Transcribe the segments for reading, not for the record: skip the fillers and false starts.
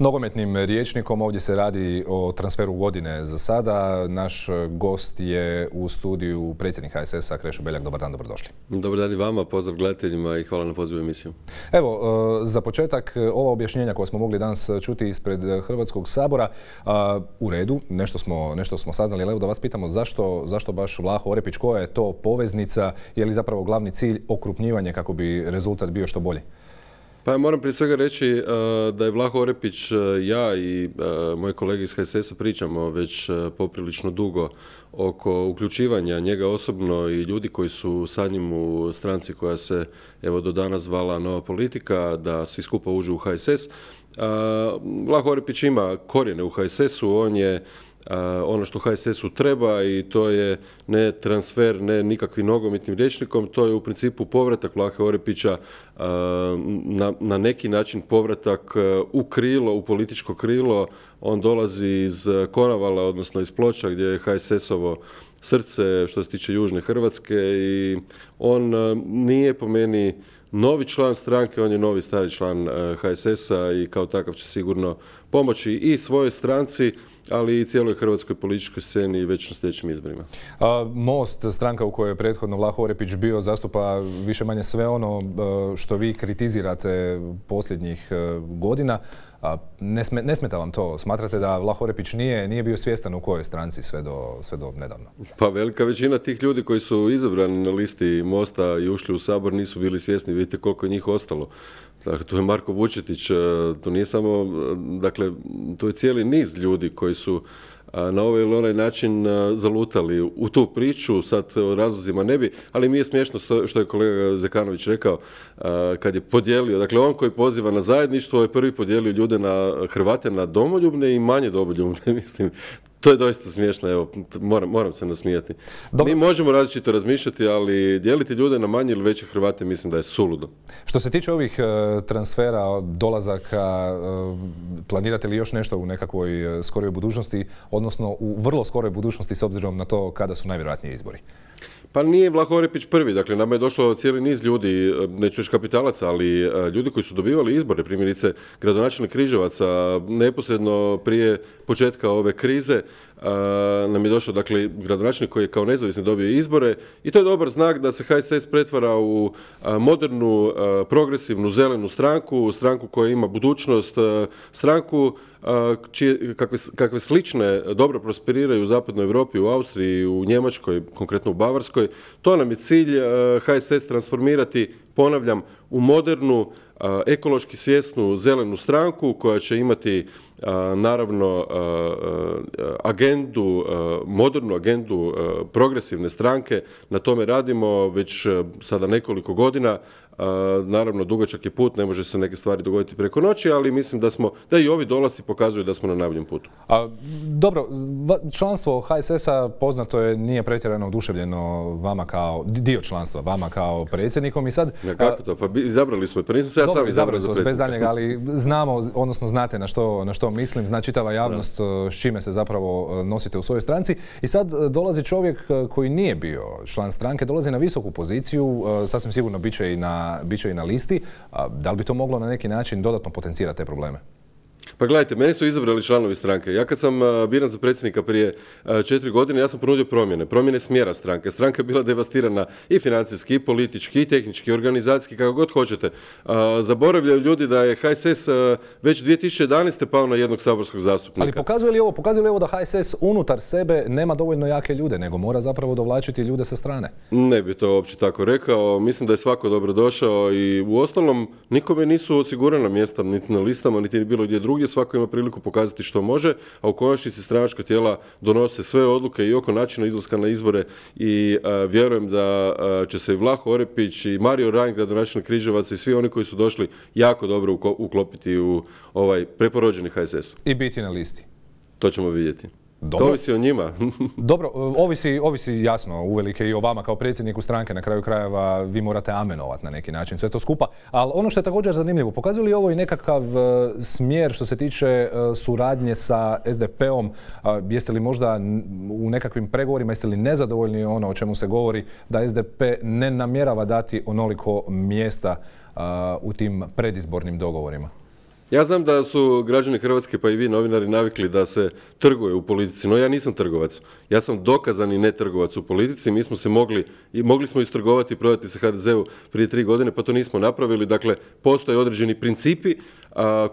Nogometnim rječnikom ovdje se radi o transferu godine za sada. Naš gost je u studiju predsjednik HSS-a Krešo Beljak. Dobar dan, dobrodošli. Dobar dan i vama, pozdrav gledateljima i hvala na pozivu emisiju. Evo, za početak, ova objašnjenja koja smo mogli danas čuti ispred Hrvatskog sabora, u redu, nešto smo saznali, ali evo da vas pitamo zašto baš Vlaho Orepić, koja je to poveznica, je li zapravo glavni cilj okrupnjivanje kako bi rezultat bio što bolji? Pa moram prije svega reći da je Vlaho Orepić, ja i moji kolege iz HSS-a pričamo već poprilično dugo oko uključivanja njega osobno i ljudi koji su sa njim u stranci koja se evo do danas zvala Nova politika, da svi skupa uđu u HSS. Vlaho Orepić ima korijene u HSS-u, on je ono što HSS-u treba i to je ne transfer, ne nikakvim nogometnim rječnikom, to je u principu povratak Vlahe Orepića na neki način povratak u krilo, u političko krilo. On dolazi iz Konavala, odnosno iz Ploča gdje je HSS-ovo srce što se tiče Južne Hrvatske i on nije po meni novi član stranke, on je novi stari član HSS-a i kao takav će sigurno pomoći i svojoj stranci, ali i cijeloj hrvatskoj političkoj sceni već na sljedećim izborima. Most, stranka u kojoj je prethodno Vlaho Orepić bio, zastupa više manje sve ono što vi kritizirate posljednjih godina. Ne smeta vam to? Smatrate da Vlaho Orepić nije bio svjestan u kojoj stranci sve do nedavno? Pa velika većina tih ljudi koji su izabrani na listi Mosta i ušli u Sabor nisu bili svjesni. Vidite koliko je njih ostalo. Dakle, tu je Marko Vučetić, to nije samo, dakle, to je cijeli niz ljudi koji su na ovaj ili onaj način zalutali u tu priču, sad o razlozima ne bi, ali mi je smiješno što je kolega Zekanović rekao kad je podijelio, dakle on koji poziva na zajedništvo je prvi podijelio ljude na Hrvate na domoljubne i manje domoljubne, mislim. To je doista smiješno, evo, moram se nasmijati. Mi možemo različito razmišljati, ali dijeliti ljude na manje ili veće Hrvate mislim da je suludo. Što se tiče ovih transfera, dolazaka, planirate li još nešto u nekakvoj skoroj budućnosti, odnosno u vrlo skoroj budućnosti s obzirom na to kada su najvjerojatnije izbori? Pa nije Vlaho Orepić prvi, dakle nama je došlo cijeli niz ljudi, neću reći kapitalaca, ali ljudi koji su dobivali izbore, primjerice gradonačelnik Križevaca, neposredno prije početka ove krize nam je došao, dakle, gradonačelnik koji je kao nezavisni dobio izbore i to je dobar znak da se HSS pretvara u modernu, progresivnu, zelenu stranku koja ima budućnost, stranku kakve slične dobro prosperiraju u zapadnoj Europi, u Austriji, u Njemačkoj, konkretno u Bavarskoj. To nam je cilj HSS transformirati, ponavljam, u modernu, ekološki svjesnu zelenu stranku koja će imati naravno agendu, modernu agendu progresivne stranke. Na tome radimo već sada nekoliko godina. Naravno, dugačak je put, ne može se neke stvari dogoditi preko noći, ali mislim da i ovi dolasci pokazuju da smo na najboljem putu. Dobro, članstvo HSS-a poznato je, nije pretjerano oduševljeno vama kao dio članstva, vama kao predsjednikom i sad... Kako to? Pa izabrali smo, pa nisam se ja sam izabrao za predsjednika. Bez daljnjega, ali znamo, odnosno znate na što mislim, zna čitava javnost s čime se zapravo nosite u svojoj stranci. I sad dolazi čovjek koji nije bio član stranke, dolazi na visoku poziciju, sasvim sigurno bit će i na listi. Da li bi to moglo na neki način dodatno potencirati te probleme? Pa gledajte, meni su izabrali članovi stranke. Ja kad sam biran za predsjednika prije 4 godine, ja sam ponudio promjene smjera stranke. Stranka je bila devastirana i financijski, i politički, i tehnički, i organizacijski, kako god hoćete. Zaboravljaju ljudi da je HSS već 2011. pao na jednog saborskog zastupnika. Ali pokazuje li ovo da HSS unutar sebe nema dovoljno jake ljude, nego mora zapravo dovlačiti ljude sa strane? Ne bi to uopće tako rekao. Mislim da je svako dobro došao i u ostalom nikome nisu osigurana mjesta niti na listama, niti bilo gdje drugdje. Svako ima priliku pokazati što može, a u konačnici stranačka tijela donose sve odluke i oko načina izlaska na izbore i vjerujem da će se i Vlaho Orepić i Mario Ranj, gradonačelnik Križevaca i svi oni koji su došli jako dobro uklopiti u ovaj preporođeni HSS. I biti na listi. To ćemo vidjeti. Dobro. To ovisi o njima. Dobro, ovisi jasno uvelike i o vama kao predsjedniku stranke. Na kraju krajeva vi morate amenovati na neki način sve to skupa. Ali ono što je također zanimljivo, pokazuje li ovo i nekakav smjer što se tiče suradnje sa SDP-om? Jeste li možda u nekakvim pregovorima, jeste li nezadovoljni ono o čemu se govori da SDP ne namjerava dati onoliko mjesta u tim predizbornim dogovorima? Ja znam da su građani Hrvatske, pa i vi novinari, navikli da se trguje u politici, no ja nisam trgovac. Ja sam dokazani netrgovac u politici. Mi smo se mogli smo istrgovati i prodati se HDZ-u prije 3 godine, pa to nismo napravili. Dakle, postoje određeni principi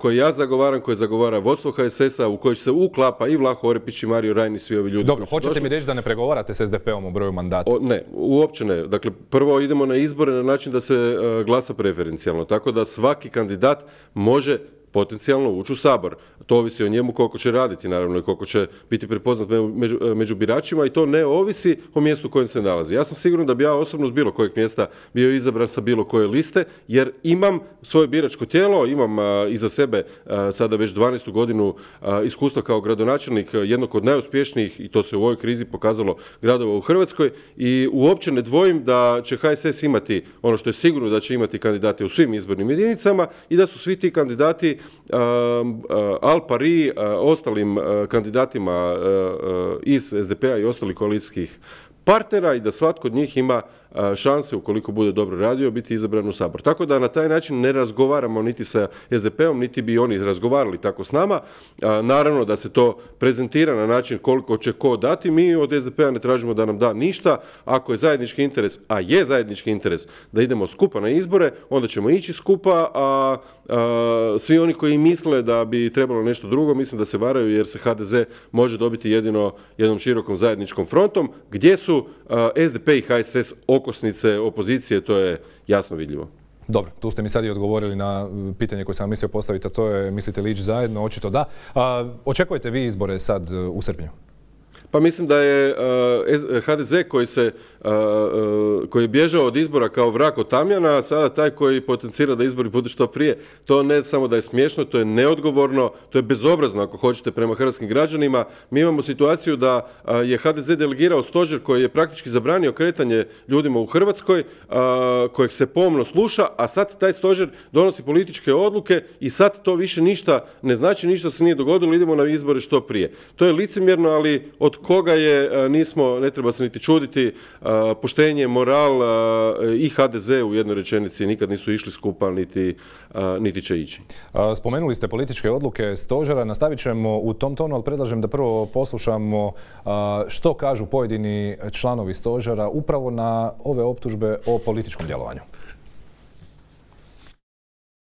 koje ja zagovaram, koje zagovara vodstvo HSS-a, u koji se uklapa i Vlaho Orepić i Mario Rajn i svi ovi ljudi. Dobro, hoćete mi reći da ne pregovarate s SDP-om o broju mandata? Ne, uopće ne. Dakle, prvo idemo na izbore na način da se glasa preferencijalno, tako da svaki kandidat može potencijalno ući u Sabor. To ovisi o njemu koliko će raditi, naravno, i koliko će biti prepoznat među biračima, i to ne ovisi o mjestu u kojem se nalazi. Ja sam siguran da bi ja osobno s bilo kojeg mjesta bio izabran sa bilo koje liste, jer imam svoje biračko tijelo, imam iza sebe sada već 12. godinu iskustva kao gradonačelnik jednog od najuspješnijih, i to se u ovoj krizi pokazalo, gradova u Hrvatskoj, i uopće ne dvojim da će HSS imati ono što je sigurno, da će imati kandidate u svim izbornim jedinicama i da su svi ti kandidati al pari ostalim kandidatima iz SDP-a i ostalih koalicijskih partnera, i da svatko od njih ima šanse, ukoliko bude dobro radio, biti izabran u Sabor. Tako da na taj način ne razgovaramo niti sa SDP-om, niti bi oni razgovarali tako s nama. Naravno da se to prezentira na način koliko će ko dati. Mi od SDP-a ne tražimo da nam da ništa. Ako je zajednički interes, a je zajednički interes da idemo skupa na izbore, onda ćemo ići skupa, a svi oni koji misle da bi trebalo nešto drugo, mislim da se varaju, jer se HDZ može dobiti jedino jednom širokom zajedničkom frontom, gdje su SDP i HSS okosnice opozicije, to je jasno vidljivo. Dobro, tu ste mi sad i odgovorili na pitanje koje sam mislio postaviti, a to je, mislite li ići zajedno? Očito da. Očekujete vi izbore sad u srpnju? Pa mislim da je HDZ koji je bježao od izbora kao vrag od tamjana, a sada taj koji potencira da izbori budu što prije. To ne samo da je smiješno, to je neodgovorno, to je bezobrazno ako hoćete prema hrvatskim građanima. Mi imamo situaciju da je HDZ delegirao stožer koji je praktički zabranio kretanje ljudima u Hrvatskoj, kojeg se pomno sluša, a sad taj stožer donosi političke odluke i sad to više ništa ne znači, ništa se nije dogodilo, idemo na izbore što prije. To je licemjerno, ali od koga je, ne treba se niti čuditi. Poštenje, moral i HDZ u jednoj rečenici nikad nisu išli skupa, niti će ići. Spomenuli ste političke odluke stožera, nastavit ćemo u tom tonu, ali predlažem da prvo poslušamo što kažu pojedini članovi stožera upravo na ove optužbe o političkom djelovanju.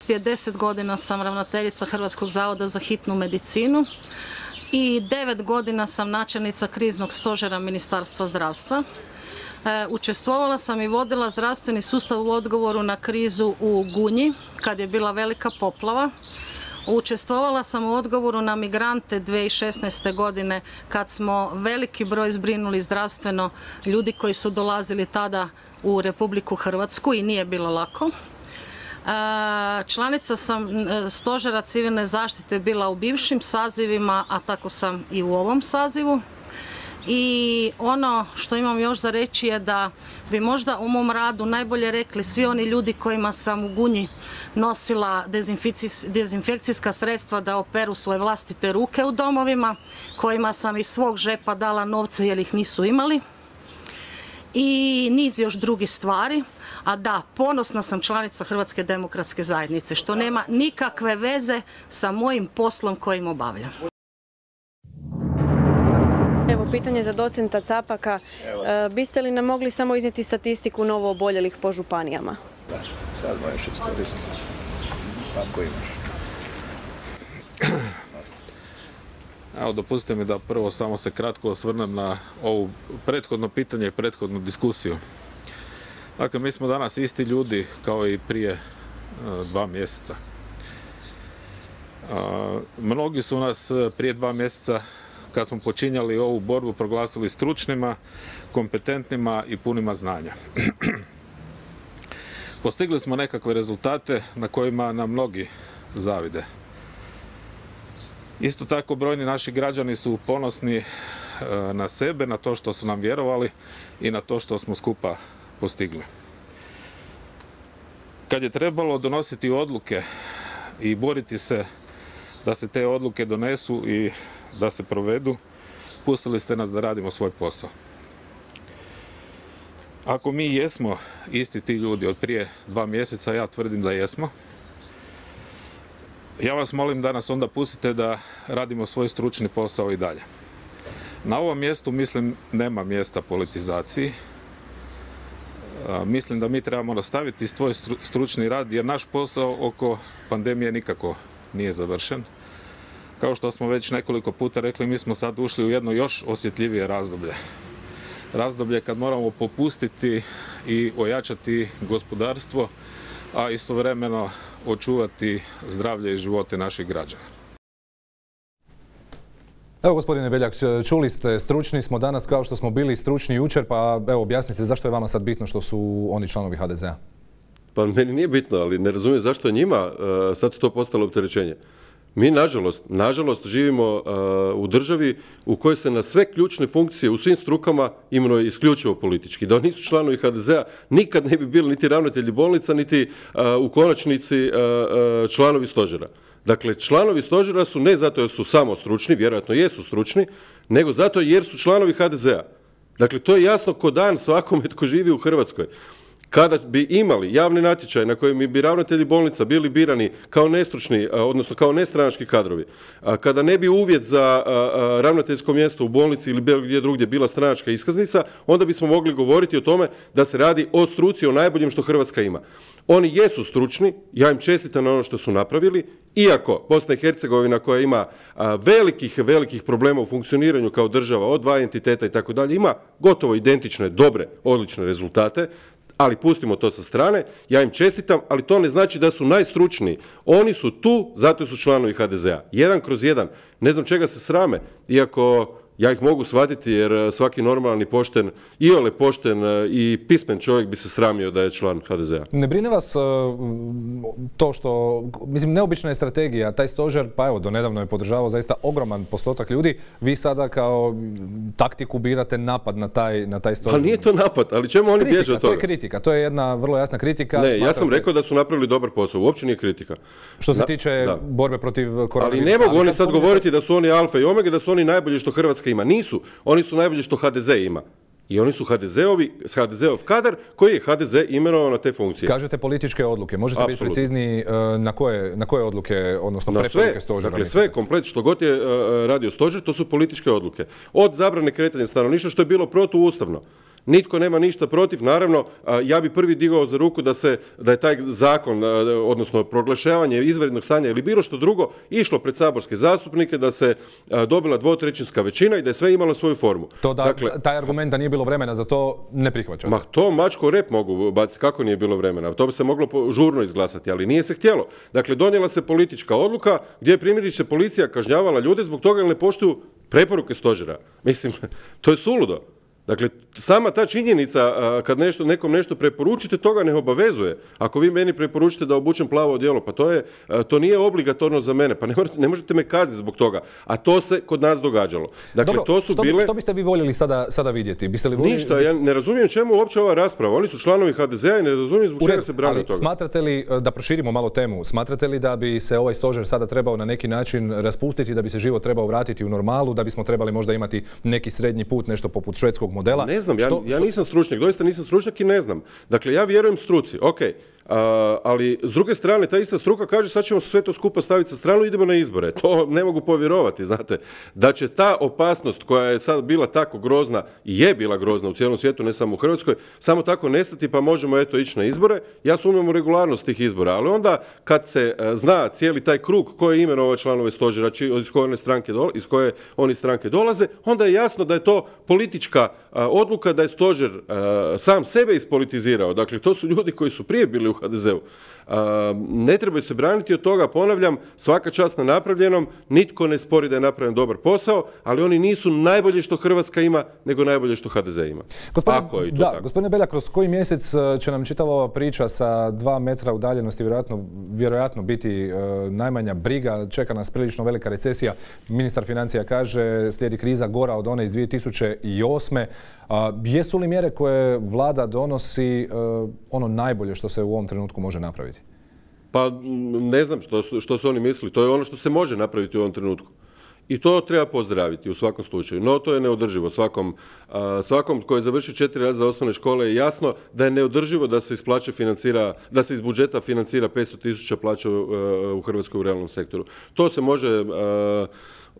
10 godina sam ravnateljica Hrvatskog zavoda za hitnu medicinu i 9 godina sam načelnica kriznog stožera Ministarstva zdravstva. Učestvovala sam i vodila zdravstveni sustav u odgovoru na krizu u Gunji, kad je bila velika poplava. Učestvovala sam u odgovoru na migrante 2016. godine, kad smo veliki broj zbrinuli zdravstveno ljudi koji su dolazili tada u Republiku Hrvatsku i nije bilo lako. Članica sam stožera civilne zaštite bila u bivšim sazivima, a tako sam i u ovom sazivu. I ono što imam još za reći je da bi možda u mom radu najbolje rekli svi oni ljudi kojima sam u Gunji nosila dezinfekcijska sredstva da operu svoje vlastite ruke u domovima, kojima sam iz svog žepa dala novce jer ih nisu imali, i niz još drugih stvari. A da, ponosna sam članica Hrvatske demokratske zajednice, što nema nikakve veze sa mojim poslom kojim obavljam. Evo, pitanje za docenta Capaka. Biste li nam mogli samo iznijeti statistiku novo oboljelih po županijama? Da, sad možeš iskoristiti. Ako imaš. Evo, dopustite mi da prvo samo se kratko osvrnem na ovo prethodno pitanje i prethodnu diskusiju. Dakle, mi smo danas isti ljudi kao i prije 2 mjeseca. Mnogi su nas prije 2 mjeseca, kad smo počinjali ovu borbu, proglasili stručnima, kompetentnima i punima znanja. Postigli smo nekakve rezultate na kojima nam mnogi zavide. Isto tako, brojni naši građani su ponosni na sebe, na to što su nam vjerovali i na to što smo skupa postigli. Kad je trebalo donositi odluke i boriti se da se te odluke donesu i da se provedu, pustili ste nas da radimo svoj posao. Ako mi jesmo isti ti ljudi od prije 2 mjeseca, ja tvrdim da jesmo. Ja vas molim da nas onda pustite da radimo svoj stručni posao i dalje. Na ovom mjestu, mislim, nema mjesta politizaciji. Mislim da mi trebamo nastaviti svoj stručni rad jer naš posao oko pandemije nikako nije završen. Kao što smo već nekoliko puta rekli, mi smo sad ušli u jedno još osjetljivije razdoblje. Razdoblje kad moramo popustiti i ojačati gospodarstvo, a istovremeno očuvati zdravlje i živote naših građana. Evo gospodine Beljak, čuli ste, stručni smo danas kao što smo bili stručni jučer, pa evo objasnite zašto je vama sad bitno što su oni članovi HDZ-a? Pa meni nije bitno, ali ne razumijem zašto je njima sad to postalo opterećenje. Mi, nažalost, živimo u državi u kojoj se na sve ključne funkcije u svim strukama imenuje isključivo politički. Da nisu članovi HDZ-a, nikad ne bi bili niti ravnatelji bolnica, niti u konačnici članovi stožera. Dakle, članovi stožera su ne zato jer su samo stručni, vjerojatno jesu stručni, nego zato jer su članovi HDZ-a. Dakle, to je jasno ko dan svakome tko živi u Hrvatskoj. Kada bi imali javni natječaj na kojem bi ravnatelji bolnica bili birani kao nestručni, odnosno kao nestranački kadrovi, kada ne bi uvjet za ravnateljsko mjesto u bolnici ili bilo gdje drugdje bila stranačka iskaznica, onda bismo mogli govoriti o tome da se radi o struci, o najboljem što Hrvatska ima. Oni jesu stručni, ja im čestitam na ono što su napravili, iako Bosna i Hercegovina koja ima velikih problema u funkcioniranju kao država od dva entiteta i tako dalje, ima gotovo identične, dobre, odlične rezultate, ali pustimo to sa strane, ja im čestitam, ali to ne znači da su najstručniji. Oni su tu, zato su članovi HDZ-a. 1/1. Ne znam čega se srame, iako ja ih mogu shvatiti jer svaki normalni pošten, iole pošten i pismen čovjek bi se sramio da je član HDZ-a. Ne brine vas to što, mislim, neobična je strategija, taj stožer, pa evo, donedavno je podržavao zaista ogroman postotak ljudi, vi sada kao taktiku birate napad na taj stožer. Pa nije to napad, ali čemu oni bježe od toga? To je kritika, to je jedna vrlo jasna kritika. Ne, ja sam rekao da su napravili dobar posao, uopće nije kritika. Što se tiče borbe protiv koronavirusa. Ali ne mogu oni sad govoriti da su oni alfa i omega, da su oni najbolji što Hrvatska ima. Nisu. Oni su najbolji što HDZ ima. I oni su HDZ-ov kadar koji je HDZ imenovao na te funkcije. Kažete političke odluke. Možete biti precizniji na koje odluke, odnosno preporuke stožera? Dakle, sve komplet što god je radio stožer, to su političke odluke. Od zabrane kretanja stanovništva, što je bilo protuustavno. Nitko nema ništa protiv, naravno, ja bi prvi digao za ruku da je taj zakon, odnosno proglašavanje izvanrednog stanja ili bilo što drugo, išlo pred saborske zastupnike, da se dobila dvotrećinska većina i da je sve imalo svoju formu. Taj argument da nije bilo vremena za to ne prihvaćate? Ma to mačko rep mogu baciti, kako nije bilo vremena? To bi se moglo žurno izglasati, ali nije se htjelo. Dakle, donijela se politička odluka gdje je primjerice policija kažnjavala ljude zbog toga jer ne poštuju preporuke stožera. Mislim, to je suludo. Dakle, sama ta činjenica kad nekom nešto preporučite, toga ne obavezuje. Ako vi meni preporučite da obučem plavo odijelo, pa to nije obligatorno za mene, pa ne možete me kazniti zbog toga. A to se kod nas događalo. Dakle, dobro, to su bile... Što biste vi voljeli sada vidjeti? Ništa, ja ne razumijem čemu uopće ova rasprava. Oni su članovi HDZ-a i ne razumijem zbog čega se brane toga. Smatrate li, da proširimo malo temu, smatrate li da bi se ovaj stožer sada trebao na neki način raspustiti, da bi se život trebao vratiti u normalu, da bismo trebali možda imati neki srednji put, nešto poput švedskog modela? Ne znam, ja nisam stručnjak, doista nisam stručnjak i ne znam. Dakle, ja vjerujem struci, ok, ali s druge strane ta ista struka kaže sad ćemo sve to skupa staviti sa stranu i idemo na izbore. To ne mogu povjerovati, znate. Da će ta opasnost koja je sad bila tako grozna i je bila grozna u cijelom svijetu, ne samo u Hrvatskoj, samo tako nestati pa možemo eto ići na izbore. Ja sumnjam u regularnost tih izbora, ali onda kad se zna cijeli taj krug koji je imenovao članove stožera, iz koje oni stranke dolaze, onda je jasno da je to politička odluka, da je stožer sam sebe ispolitizirao. Dakle, to su ljudi koji su prije bili u HDZ-u. Ne trebaju se braniti od toga, ponavljam, svaka čast na napravljenom, nitko ne spori da je napravljen dobar posao, ali oni nisu najbolje što Hrvatska ima, nego najbolje što HDZ ima. Gospodine Beljak, kroz koji mjesec će nam čitava ova priča sa 2 metra udaljenosti vjerojatno biti najmanja briga, čeka nas prilično velika recesija. Ministar financija kaže slijedi kriza gora od one iz 2008. Jesu li mjere koje vlada donosi ono najbolje što se u ovom trenutku može napraviti? Pa ne znam što su oni mislili. To je ono što se može napraviti u ovom trenutku. I to treba pozdraviti u svakom slučaju. No, to je neodrživo. Svakom koji je završio 4 razreda osnovne škole je jasno da je neodrživo da se da se iz budžeta financira 500.000 plaća u Hrvatskoj u realnom sektoru. To se može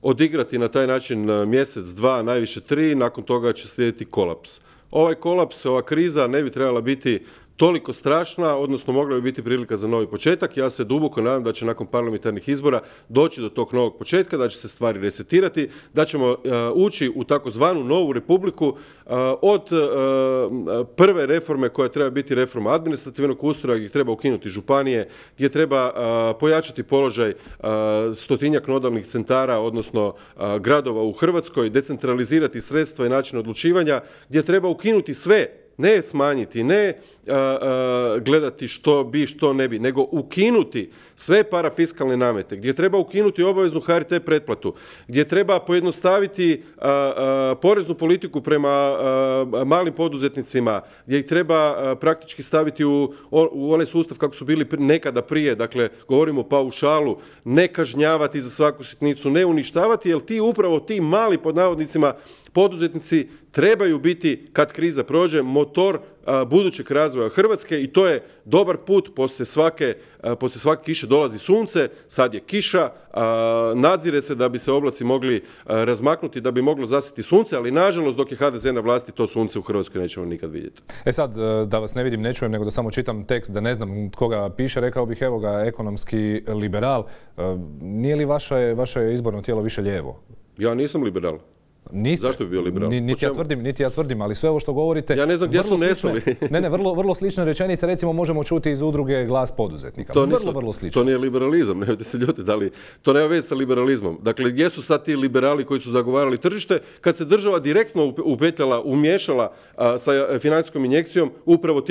odigrati na taj način mjesec, 2, najviše 3, nakon toga će slijediti kolaps. Ovaj kolaps, ova kriza ne bi trebala biti toliko strašna, odnosno mogla bi biti prilika za novi početak. Ja se duboko nadam da će nakon parlamentarnih izbora doći do tog novog početka, da će se stvari resetirati, da ćemo ući u takozvanu novu republiku od prve reforme koja treba biti reforma administrativnog ustroja, gdje treba ukinuti županije, gdje treba pojačati položaj 100-tinjak nodalnih centara, odnosno gradova u Hrvatskoj, decentralizirati sredstva i način odlučivanja, gdje treba ukinuti sve, ne smanjiti, ne gledati što bi, što ne bi, nego ukinuti sve parafiskalne namete, gdje treba ukinuti obaveznu HRT pretplatu, gdje treba pojednostaviti poreznu politiku prema malim poduzetnicima, gdje ih treba praktički staviti u onaj sustav kako su bili nekada prije, dakle govorimo o paušalu, ne kažnjavati za svaku sitnicu, ne uništavati, jer upravo ti mali pod navodnicima poduzetnici trebaju biti, kad kriza prođe, motor budućeg razvoja Hrvatske i to je dobar put. Poslije svake kiše dolazi sunce, sad je kiša, nadzire se da bi se oblaci mogli razmaknuti, da bi moglo zasjeti sunce, ali nažalost dok je HDZ na vlasti to sunce u Hrvatskoj nećemo nikad vidjeti. Sad, da vas ne vidim, ne čujem, nego da samo čitam tekst, da ne znam tko ga piše, rekao bih, evo ga, ekonomski liberal. Nije li vaše izborno tijelo više lijevo? Ja nisam liberal. Niste. Zašto bi bio liberal? Niti ja tvrdim, ali sve ovo što govorite... Ja ne znam gdje su nestali. Vrlo slične rečenice, recimo možemo čuti iz udruge Glas poduzetnika. Vrlo slično. To nije liberalizam, nemojte se ljutiti, to nema veze sa liberalizmom. Dakle, gdje su sad ti liberali koji su zagovarali tržište, kad se država direktno upetljala, umiješala sa financijskom injekcijom upravo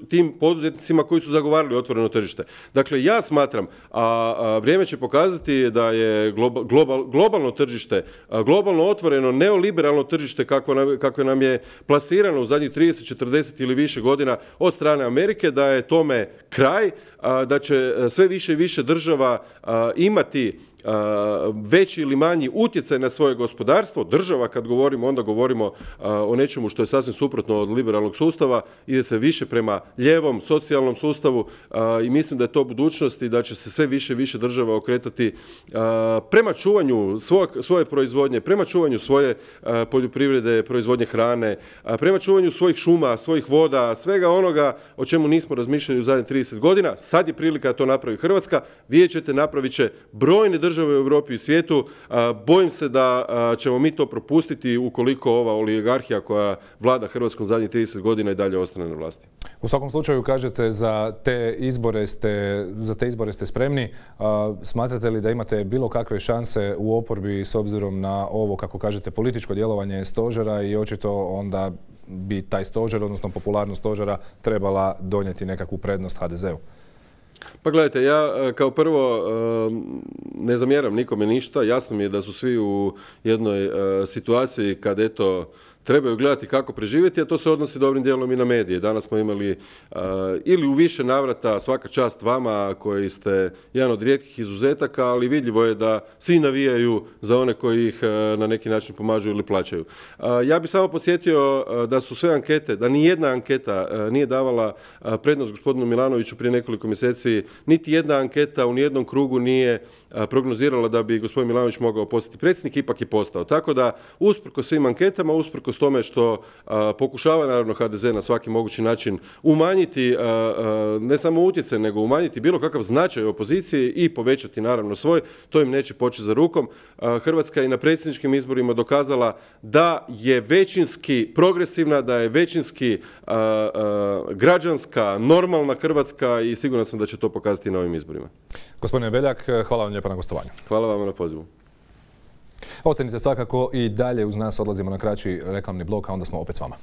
tim poduzetnicima koji su zagovarali otvoreno tržište. Dakle, ja smatram, a vrijeme će pokazati da je globalno tržište, globalno otvoreno neoliberalno tržište kako nam je plasirano u zadnjih 30, 40 ili više godina od strane Amerike, da je tome kraj, da će sve više i više država imati veći ili manji utjecaj na svoje gospodarstvo. Država, kad govorimo, onda govorimo o nečemu što je sasvim suprotno od liberalnog sustava, ide se više prema lijevom, socijalnom sustavu i mislim da je to budućnost i da će se sve više i više država okretati prema čuvanju svoje proizvodnje, prema čuvanju svoje poljoprivrede, proizvodnje hrane, prema čuvanju svojih šuma, svojih voda, svega onoga o čemu nismo razmišljali u zadnjih 30 godina. Sad je prilika da to napravi Hrvatska. Vidjet ćete, napravit će brojne države u Europi i svijetu. Bojim se da ćemo mi to propustiti ukoliko ova oligarhija koja vlada Hrvatskom zadnjih 30 godina i dalje ostane na vlasti. U svakom slučaju, kažete, za te izbore ste spremni. Smatrate li da imate bilo kakve šanse u oporbi s obzirom na ovo, kako kažete, političko djelovanje stožera i očito onda bi taj stožer, odnosno popularnost stožera, trebala donijeti nekakvu prednost HDZ-u? Pa gledajte, ja kao prvo ne zamjeram nikome ništa. Jasno mi je da su svi u jednoj situaciji kad trebaju gledati kako preživjeti, a to se odnosi dobrim dijelom i na medije. Danas smo imali ili u više navrata, svaka čast vama koji ste jedan od rijetkih izuzetaka, ali vidljivo je da svi navijaju za one koji ih na neki način pomažu ili plaćaju. Ja bih samo podsjetio da su sve ankete, da ni jedna anketa nije davala prednost gospodinu Milanoviću prije nekoliko mjeseci, niti jedna anketa u nijednom krugu nije prognozirala da bi gospodin Milanović mogao postati predsjednik, ipak je postao. Tako da, usprkos svim anketama, usprkos tome što pokušava naravno HDZ na svaki mogući način umanjiti ne samo utjecaj, nego umanjiti bilo kakav značaj opozicije i povećati naravno svoj, to im neće poći za rukom. Hrvatska i na predsjedničkim izborima dokazala da je većinski progresivna, da je većinski građanska, normalna Hrvatska i siguran sam da će to pokazati na ovim izborima. Gospodine Beljak, hvala vam lijepa na gostovanju. Hvala vam na pozivu. Ostanite svakako i dalje uz nas, odlazimo na kraći reklamni blok, a onda smo opet s vama.